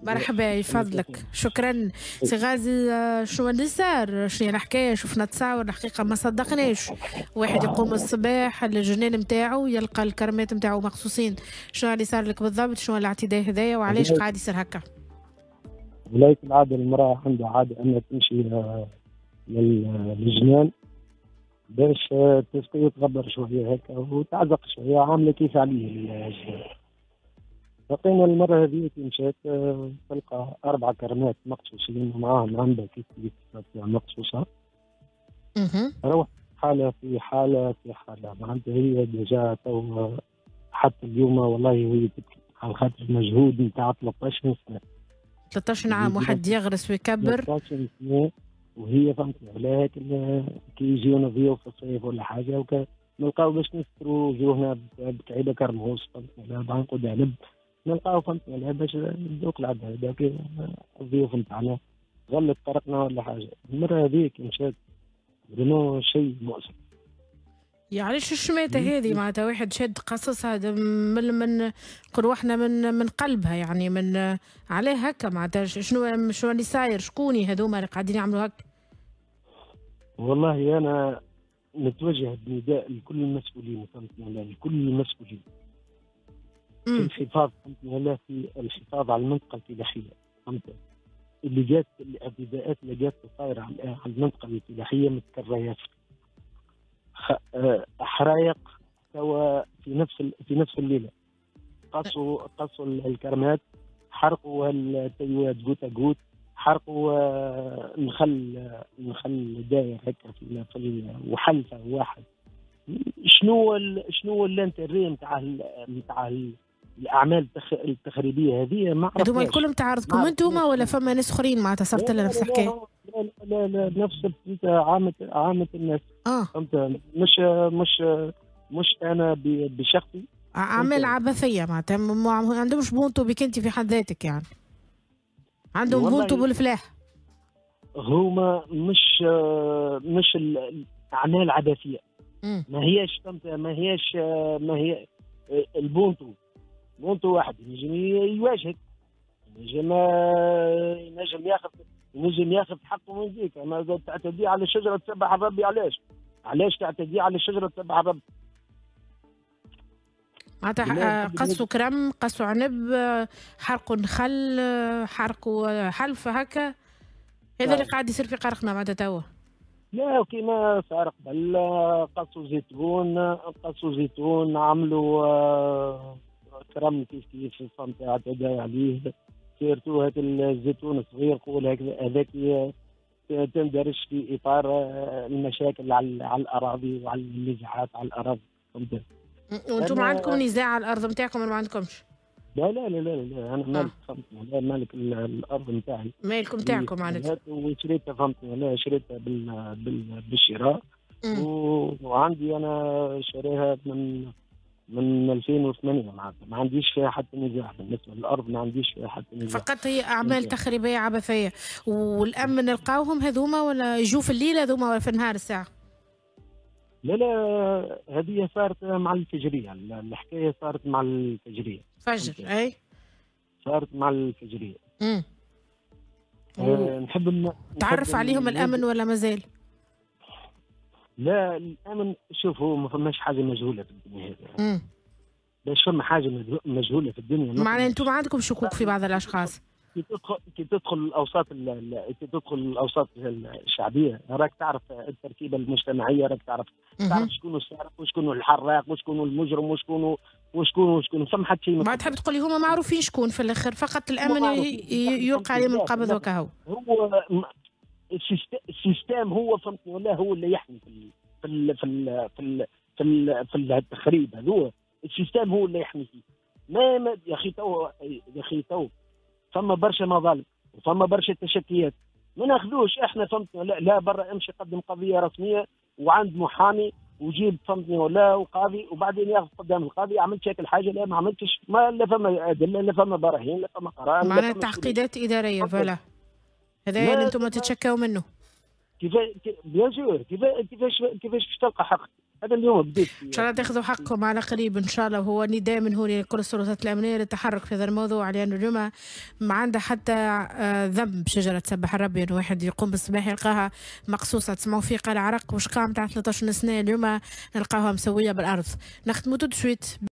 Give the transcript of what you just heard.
مرحبا، يفضلك، شكرا سي غازي. شنو اللي صار؟ شنو الحكاية؟ شفنا تصاور الحقيقة ما صدقناش، واحد يقوم الصباح الجنان نتاعو يلقى الكرمات نتاعو مقصوصين. شنو اللي صار لك بالضبط؟ شنو الاعتداء هذايا وعلاش قاعد يصير هكا؟ ولاية العادة المرأة عندها عادة أنها تمشي للجنان باش تسقي وتغبر شوية هكا وتعزق شوية، عاملة كيف عليه الجنان. لقينا المرة هذه كي مشات تلقى 4 كرمات مقصوصين ومعاهم عنبة كيف مقصوصة. روح حالة في حالة في حالة، معناتها هي déjà تو حتى اليوم والله وهي تبكي على خاطر المجهود نتاع 13 سنة. 13 عام واحد يغرس ويكبر. 13 سنة وهي فهمت علاه كي يجيونا ضيوف في الصيف ولا حاجة نلقاو باش نستروا وجوهنا بكعيبة كرموس، فهمت علاه، بعنقود عنب نلقاو، فهمت علاه، باش ندوق العباد هذاك الضيوف نتاعنا غلط طرقنا ولا حاجة. المرة هذيك مشات vraiment شيء مؤسف. يعني علاش الشماتة هذه؟ معناتها واحد شاد قصصها من نقولوا احنا من قلبها، يعني من علاه هكا؟ معناتها شنو اللي صاير؟ شكوني هذوما اللي قاعدين يعملوا هكا؟ والله انا نتوجه بنداء لكل المسؤولين، فهمتني، لكل المسؤولين في الحفاظ، فهمتني، في الحفاظ على المنطقة الفلاحية، فهمت؟ اللي جات الاعتداءات اللي جات صايرة على المنطقة الفلاحية متكررة ياسر. حرايق توا في نفس الليلة قصوا الكرمات، حرقوا التيوات goutte à goutte، حرقوا نخل داير هكا في وحلفه واحد. شنو l'intérêt نتاع الاعمال التخريبيه هذه؟ ما عرفناش. هذوما الكل تعرضكم انتوما ولا فما ناس اخرين معناتها صارت لنا نفس الحكاية؟ لا لا لا، نفس عامة الناس. فهمت؟ مش انا بشخصي. اعمال عبثية معناتها ما عندهمش بونتو بك انت في حد ذاتك، يعني عندهم بونتو بالفلاح. هما مش الاعمال عبثية. ما هياش، فهمت، ما هياش، ما هي البونتو بونتو واحد ينجم يواجهك، ينجم ياخذ حقه من ذيك. اما تعتدي على الشجرة تسبح الربي، علاش تعتدي على الشجرة تسبح الربي؟ معناتها قصوا كرم، قصوا عنب، حرقوا نخل، حرقوا حلفه هكا. هذا اللي قاعد يصير في قرقنا معناتها توا. لا، كيما صار قبل قصوا زيتون، عملوا كرم كيف كيف، فهمت، اعتدى عليه. surtout هذا الزيتون الصغير قول هذاك تندرج في اطار المشاكل على الاراضي وعلى النزاعات على الاراضي، فهمت؟ وانتم عندكم نزاع على الارض نتاعكم ولا ما عندكمش؟ لا لا لا لا، لا انا مالك، فهمتني، لا مالك الارض نتاعي. مالكم نتاعكم معناتها. وشريتها، فهمتني، لا شريتها بالشراء، وعندي انا شاريها من 2008 معناتها، ما عنديش فيها حتى نزاع بالنسبة للارض، ما عنديش فيها حتى نزاع. فقط هي اعمال تخريبيه عبثية. والامن نلقاوهم هذوما ولا يجوا في الليل هذوما ولا في النهار الساعة؟ لا لا، هذه صارت مع الفجريه، الحكاية صارت مع الفجريه. فجر، اي صارت مع الفجريه. نحب تعرف عليهم الامن ولا مازال؟ لا الامن، شوفوا ما فماش حاجة مجهولة في الدنيا هذه. باش فما حاجة مجهولة في الدنيا. معناها انتم عندكم شكوك في بعض الاشخاص. كي تدخل الاوساط كي تدخل الاوساط الشعبية راك تعرف التركيبة المجتمعية، راك تعرف شكون السارق وشكون الحراق وشكون المجرم وشكون وشكون وشكون، فما حتى شيء. ما تحب تقول لي هما معروفين شكون في الاخر، فقط الامن يلقى عليهم القبض وكهو. هو ال système هو، فهمتني ولا، هو اللي يحمي في ال في ال في ال في ال في, ال في التخريب هذا، ال système هو اللي يحمي فيه. ما يا اخي تو، يا اخي تو فما برشا مظالم وفما برشا تشكيات، ما ناخذوش احنا، فهمتني، لا, لا برا امشي قدم قضية رسمية وعند محامي وجيب، فهمتني ولا، وقاضي، وبعدين ياخذ قدام القاضي عملت شكل حاجة، لا ما عملتش، ما لا فما ادلة، لا فما براهين، لا فما قرار، معناها تعقيدات ادارية. voilà هذا اللي انتم تتشكاو منه. كيف bien sûr، كيفاش باش تلقى حقك؟ هذا اليوم بديت. ان شاء الله تاخذوا حقكم على قريب ان شاء الله. وهو نداء من هنا لكل السلطات الامنية للتحرك في هذا الموضوع، لانه اليوم ما عندها حتى ذنب شجرة تسبح الربي انه واحد يقوم بالصباح يلقاها مقصوصه. تسمعوا فيه قال عرق وشقام تاع 13 سنه، اليوم نلقاوها مسويه بالارض. نختموا tout de suite.